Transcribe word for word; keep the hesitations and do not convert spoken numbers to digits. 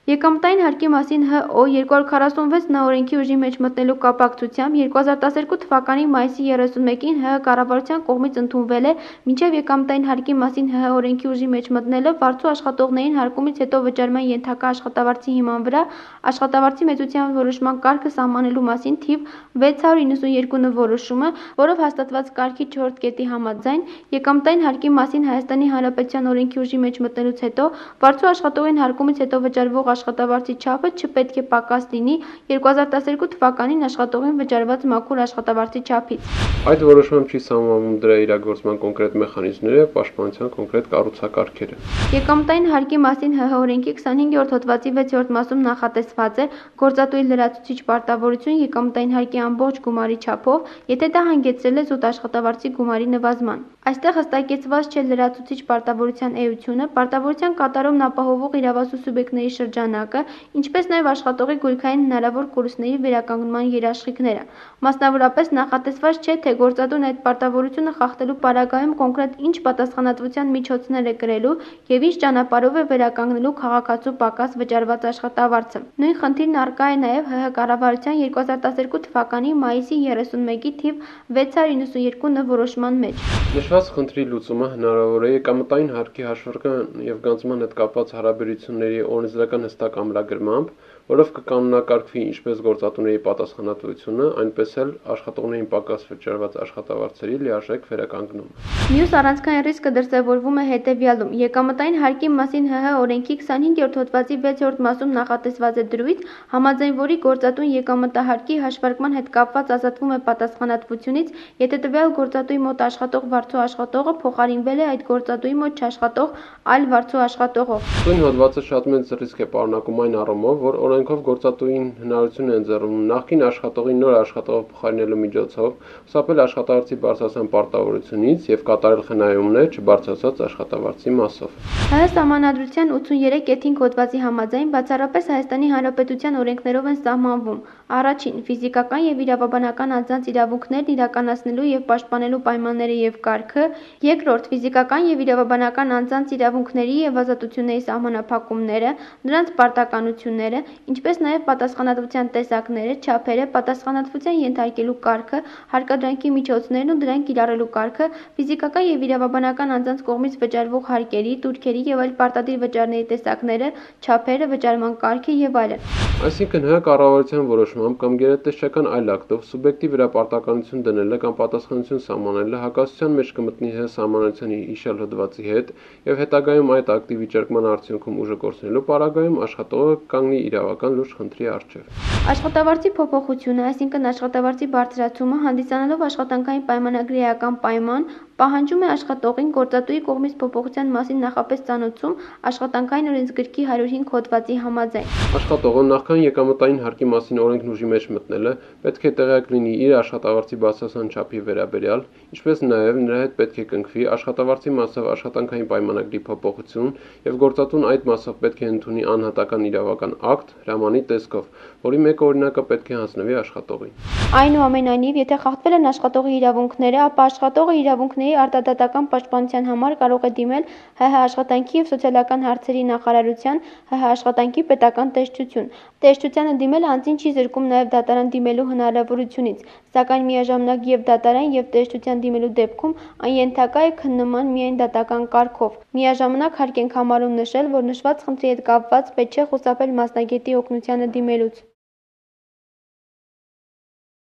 Եկամտային հարկի մասին Հ Օ երկու հարյուր քառասունվեց նորօրենքի ուժի մեջ մտնելու կապակցությամբ երկու հազար տասներկու թվականի մայիսի երեսունմեկին ՀՀ կառավարության կողմից ընդունվել է մինչև եկամտային հարկի մասին ՀՀ օրենքի ուժի մեջ մտնելը վարձու աշխատողներին հարկումից հետո վճարման ենթակա աշխատավարձի հիման վրա աշխատավարձի մեծության որոշման կարգը սահմանելու մասին թիվ վեց հարյուր իննսունյոթ նորոշումը, որով հաստատված կարգի չորրորդ կետի համաձայն եկամտային հարկի մասին Հայաստանի Հանրապետության օրենքի ուժի մեջ մտնելուց հետո վարձու աշխատողին հարկումից հետո վճարվող աշխատավարձի չափը չպետք է պակաս լինի երկու հազար տասներկու թվականին աշխատողին վճարված մաքուր աշխատավարձի չափից։ Այդ որոշմամբ չի սահմանվում դրա իրագործման կոնկրետ մեխանիզմները եւ պաշտպանության կոնկրետ կառուցակարգերը։ Եկամտային հարկի մասին ՀՀ օրենքի քսանհինգերորդ հոդվածի վեցերորդ մասում նախատեսված է գործատուի լրացուցիչ պարտավորություն եկամտային հարկի ամբողջ գումարի չափով, եթե դա հանգեցրել է զուտ աշխատավարձի գումարի նվազման։ Այստեղ հստակեցված չէ լրացուցիչ պարտավորության էությունը, պարտավորության կատարումն ապահովող իրավասու սուբյեկտների շրջանակը, ինչպես նաև աշխատողի գույքային հնարավոր կորուստների վերականգնման երաշխիքները։ Մասնավորապես նախատեսված չէ, թե գործատուն այդ պարտավորությունը խախտելու պարագայում կոնկրետ ինչ պատասխանատվության միջոցներ է կրելու եւ ինչ ճանապարհով է վերականգնելու քաղաքացու պակաս վճարված աշխատավարձը։ Նույն խնդիրն առկա է նաև ՀՀ կառավարության երկու հազար տասներկու թվականի մայիսի երեսունմեկի թիվ վեց հարյուր իննսունյոթ որոշման մեջ։ Նշված խնդրի լուծումը հնարավոր է եկամտային հարկի հաշվարկման եւ գանձման հետ կապված հարաբերությունների օրենսդրական հստակ ամրագրմամբ, որով կկանոնակարգվի ինչպես գործատուների պատասխանատվությունը, այնպես էլ աշխատողներին պակաս վճարված աշխատավարձերի լիարժեք վերականգնումը։ Մյուս առանցքային ռիսկը դրսևորվում է հետևյալում. եկամտային հարկի մասին ՀՀ օրենքի քսանհինգերորդ հոդվածի վեցերորդ մասում նախատեսված է դրույթ, համաձայն որի գործատուն եկամտահարկի հաշվարկման հետ կապված ազատվում է պատասխանատվությունից, եթե տվյալ գործատուի մոտ աշխատող վարձու աշխատողը փոխարինվել է այդ գործատուի մոտ չաշխատող այլ վարձու աշխատողով։ Նույն հոդվածը շատ մեծ ռիսկ է պարունակում այն առումով, որ օրենքով գործատուին հնարավորություն է ընձեռում նախկին աշխատողի նոր աշխատողով փոխարինելու միջոցով խուսափել աշխատավարձի բարձրացման պարտավորությունից եւ կատարել խնայումներ չբարձրացած աշխատավարձի մասով։ ՀՀ Սահմանադրության ութսուներեք կեթ հինգ հոդվածի համաձայն բացառապես Հայաստանի Հանրապետության օրենքներով են սահմանվում. Առաջին՝ ֆիզիկական եւ իրավաբանական անձանց իրավունքներն իրականացնելու եւ պաշտպանելու պայմանները եւ կարգը, երկրորդ՝ ֆիզիկական եւ իրավաբանական անձանց իրավունքների եւ ազատությունների սահմանափակումները, նրանց պարտականությունները, ինչպես նաեւ պատասխանատվության տեսակները, չափերը, պատասխանատվության ենթարկելու կարգը, հարկադրանքի միջոցներն ու դրանք կիրառելու կարգը, ֆիզիկական եւ իրավաբանական անձանց կողմից վճարվող հարկերի, տուրքերի եւ այլ պարտադիր վճարների տեսակները, չափերը, վճարման կարգը եւ այլն։ Այսինքն ՀՀ կառավարության որոշմամբ կամ գերատեսչական այլ ակտով սուբյեկտի վրա պարտականություն դնելը կամ պատասխանատվություն սահմանելը հակասության մեջ կմտնի ՀՀ Սահմանադրության հիշյալ հոդվածի հետ եւ հետագայում այդ ակտի վիճարկման արդյունքում ուժը կորցնելու պարագայում աշխատողը կանգնի իրավական լուրջ խնդրի առջեւ։ Աշխատավարձի փոփոխությունը, այսինքն աշխատավարձի բարձրացումը, հանդիսանալով աշխատանքային պայմանագրի էական պայման, պահանջում է աշխատողին գործատուի կողմից փոփոխության մասին նախապես ծանոթում աշխատանքային օրենսգրքի հարյուր հինգ հոդվածի համաձայն։ Աշխատողը նախքան եկամտային հարկի մասին օրենքն ուժի մեջ մտնելը պետք է տեղյակ լինի իր աշխատավարձի բարձրացման չափի վերաբերյալ, ինչպես նաև նրա հետ պետք է կնքվի աշխատավարձի մասով աշխատանքային պայմանագրի փոփոխություն եւ գործատուն այդ մասով պետք է ընդունի անհատական իրավական ակտ հրամանի տեսքով, որի մեկ օրինակը պետք է հանձնվի աշխատողին։ Այնուամենայնիվ, եթե խախտվել են աշխատողի իրավունքները, ապա աշխատողը իրավունքների արտադատական պաշտպանության համար կարող է դիմել ՀՀ աշխատանքի եւ սոցիալական հարցերի նախարարության, ՀՀ աշխատանքի պետական տեսչություն։ Տեսչությանը դիմել անձին չի զրկում նաեւ դատարան դիմելու հնարավորությունից, սակայն միաժամանակ եւ դատարան եւ տեսչության դիմելու դեպքում այն ենթակա է քննման միայն դատական կարգով։ Միաժամանակ հարկ ենք համարում նշել, որ նշված խնդրի հետ կապված պետք չէ խուսափել մասնագետի օգնությանը դիմելուց։